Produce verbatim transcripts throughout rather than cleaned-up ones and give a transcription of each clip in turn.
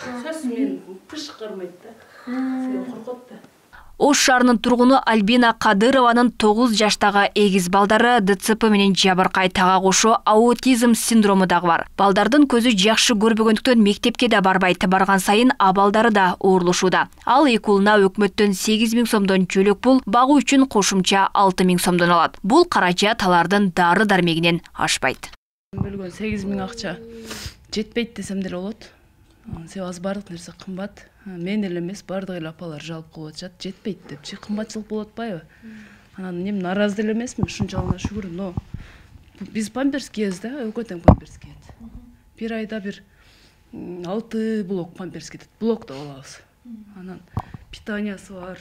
Сөз мен кыш кармайт да. Сен коркот да. Ош шаарынын тургуну Альбина Кадырованын тогуз жаштагы эгиз балдары ДЦП менен жабыркай тага кошо аутизм синдрому дагы бар. Балдардын көзү жакшы көрбөгөндүктөн мектепке да барбайт, барган сайын абалдары да оорлошууда. Ал эки уулуна өкмөттөн сегиз миң сомдон жөлөк пул, багуу үчүн кошумча алты миң сомдон алат. Бул каражат алардын дары дармегинен ашпайт. Бөлгөн сегиз миң акча жетпейт десем деле болот. Себеби аз бардык нерсе кымбат. Мен эле эмес, бардык эле апалар жалп кылып атышат, жетпейт депчи. Кымбатчылык болуп атпайбы? Анан эми наразы деле эмесмин, ушунчалык шүгүр, но биз памперс кийебиз да, экөө тең памперс кийет. Бир айда бир алты блок памперс кетет. Блокто болобуз. Анан питаниясы бар,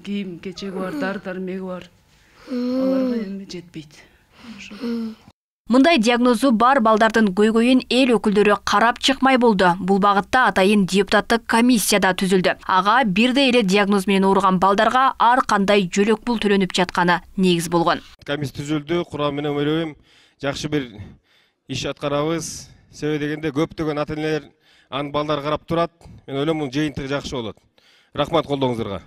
кийим кечеги бар, дары дармеги бар. Аларга эми жетпейт. Мындай диагнозу бар балдардын көйгөйүн эл өкүлдөрү карап чыкмай болду. Бул багытта атайын депутаттык комиссия да түзүлдү. Ага бирдей эле диагноз менен ооруган балдарга ар кандай жөлөк пул төлөнүп жатканы негиз болгон. Комиссия түзүлдү, курамы менен ойлойм, жакшы бир иш аткарабыз. Себеби дегенде көптөгөн ата-энелер анын балдары карап турат. Мен ойлойм, бул жыйынтыгы жакшы болот. Рахмат колдооңуздарга.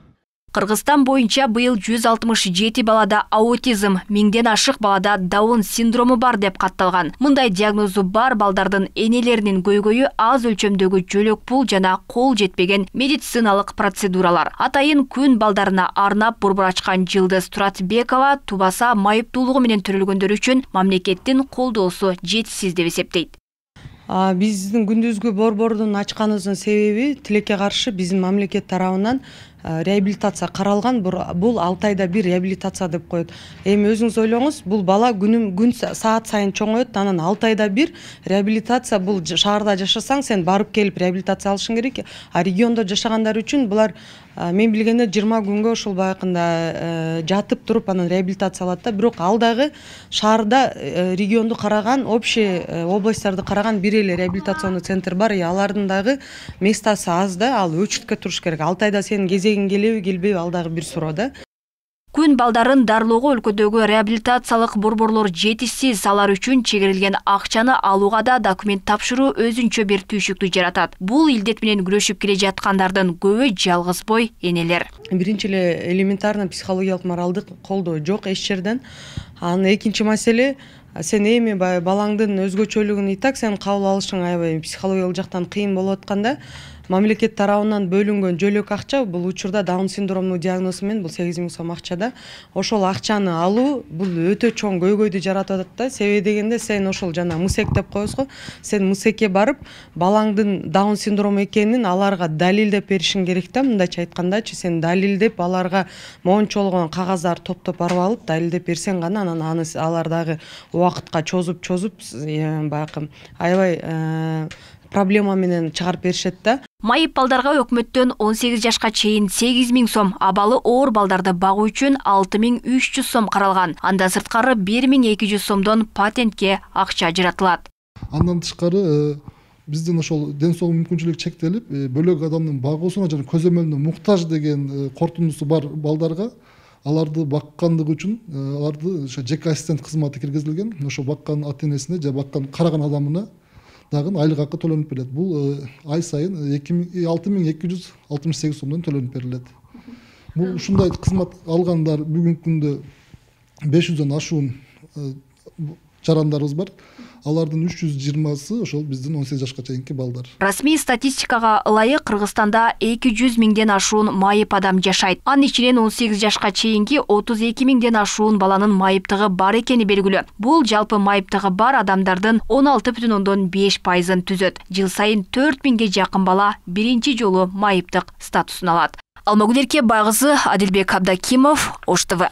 Кыргызстан боюнча быйыл жүз алтымыш жети балада аутизм, миңден ашык балада Даун синдрому бар деп катталган. Мындай диагнозу бар балдардын энелеринин көйгөйү аз өлчөмдөгү жөлөк пул жана кол жетпеген медициналык процедуралар. Атайын күн балдарына арнап борбор ачкан Жылдыз Туратбекова тубаса майыптуулугу менен төрөлгөндөр үчүн мамлекеттин колдоосу жетишсиз деп эсептейт. Биздин күндүзгү борбордун ачканыбыздын себеби тилекке каршы биздин мамлекет тарабынан реабилитация каралган. Бул алты айда бир реабилитация деп коет. Эми өзүңүз ойлоңуз, бул бала күнүм күн саат сайын чоңоет, анан алты айда бир реабилитация. Бул шаарда жашасаң, сен барып келип реабилитация алышың керек. А региондо жашагандар үчүн булар мен билгенде жыйырма күнгө ушул баягында жатып туруп анан реабилитация алат да. Бирок ал дагы шаарда регионду караган, общий областтарды караган бир эле реабилитационный центр бар. Алардын дагы местасы аз да, ал өчүткө туруш керек. алты айда сенин кезегиң келеби, келбеби, ал дагы бир суроо да. Күн балдарын дарлоого өлкөдөгү реабилитациялык борборлор жетишсиз, алар үчүн чегирилген акчаны алууга да документ тапшыруу өзүнчө бир түйшүктү жаратат. Бул илдет менен күрөшүп келе жаткандардын көбү жалгыз бой энелер. Биринчи эле элементарный психологиялык моралдык колдоо жок эч жерден. Анан экинчи маселе, сен эми балаңдын өзгөчөлүгүн и так сен кабыл алышың аябай психологиялык жактан кыйын болуп атканда, мамлекет тарабынан бөлүнгөн жөлөк акча, бул учурда Даун синдромунун диагнозу менен бул сегиз миң сом акчада. Ошол акчаны алуу бул өтө чоң көйгөйдү жаратып атат да. Себеби дегенде сен ошол жана мусек деп коебуз го. Сен мусекке барып, балаңдын Даун синдрому экенин аларга далилдеп беришиң керек да. Мындайча айткандачы, сен далилдеп аларга моңчолгон кагаздарды топтоп барып алып, далилдеп берсең гана анан аны алар дагы убакытка чозуп-чозуп баягы аябай проблема менен чыгарып беришет да. Майып балдарга өкмөттөн он сегиз жашка чейин сегиз миң сом, абалы оор балдарды багуу үчүн алты миң үч жүз сом каралган. Анда сырткары бир миң эки жүз сомдон патентке акча ажыратылат. Андан тышкары биздин ошол ден соолук мүмкүнчүлүгү чектелип, бөлөк адамдын багуусуна жана көзөмөлүнө муктаж деген кортундусу бар балдарга аларды баккандыгы үчүн аларды ошо жеке ассистент кызматы киргизилген. Ошо баккан ата-энесине же баккан караган адамына дагы айлык акы төлөнүп берилет. Бул ай сайын алты миң эки жүз алтымыш сегиз сомдон төлөнүп берилет. Бул ушундай кызмат алгандар бүгүнкү күндө беш жүздөн ашуун жарандарыбыз бар. Алардын үч жүз жыйырмасы ошол биздин он сегиз жашка чейинки балдар. Расмий статистикага ылайык Кыргызстанда эки жүз миңден ашуун майып адам жашайт. Анын ичинен он сегиз жашка чейинки отуз эки миңден ашуун баланын майыптыгы бар экени белгилүү. Бул жалпы майыптыгы бар адамдардын он алты бүтүн ондон беш пайызын түзөт. Жыл сайын төрт миңге жакын бала биринчи жолу майыптык статусун алат. Алмагүл Эрке, Байгызы, Адилбек Абдакимов, Ош ТВ.